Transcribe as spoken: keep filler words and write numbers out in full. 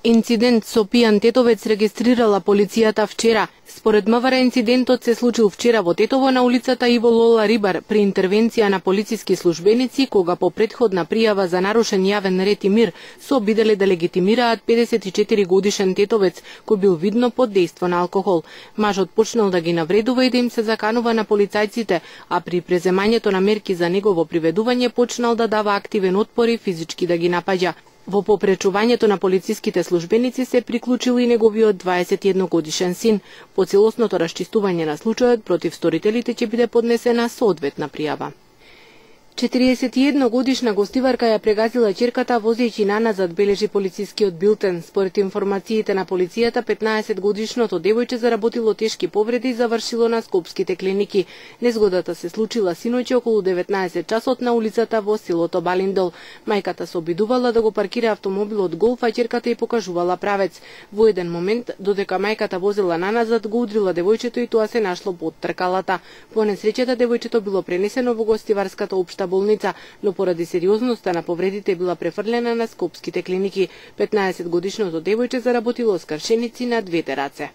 Инцидент со пијан тетовец регистрирала полицијата вчера. Според МВР инцидентот се случил вчера во Тетово на улицата Иво Лола Рибар при интервенција на полициски службеници кога по претходна пријава за нарушен јавен ред и мир се обиделе да легитимираат педесет и четири годишен тетовец кој бил видно под дејство на алкохол. Мажот почнал да ги навредува и да им се заканува на полицајците, а при преземањето на мерки за негово приведување почнал да дава активен отпор и физички да ги напаѓа. Во попречувањето на полициските службеници се приклучил и неговиот дваесет и едно годишен син. По целосното расчистување на случајот против сторителите ќе биде поднесена соодветна пријава. четириесет и една годишна гостиварка ја прегазила ќерката возејќи наназад, бележи полицискиот билтен. Според информациите на полицијата, петнаесет годишното девојче заработило тешки повреди и завршило на скопските клиники. Незгодата се случила синоќи околу деветнаесет часот на улицата во селото Балиндол. Мајката се обидувала да го паркира автомобилот Голф, а ќерката ја покажувала правец. Во еден момент, додека мајката возела наназад, го удрила девојчето и тоа се нашло под тркалата. По несреќата девојчето било пренесено во гостиварската општа болница, но поради сериозноста на повредите била префрлена на скопските клиники. петнаесет годишното девојче заработило скршеници на двете раце.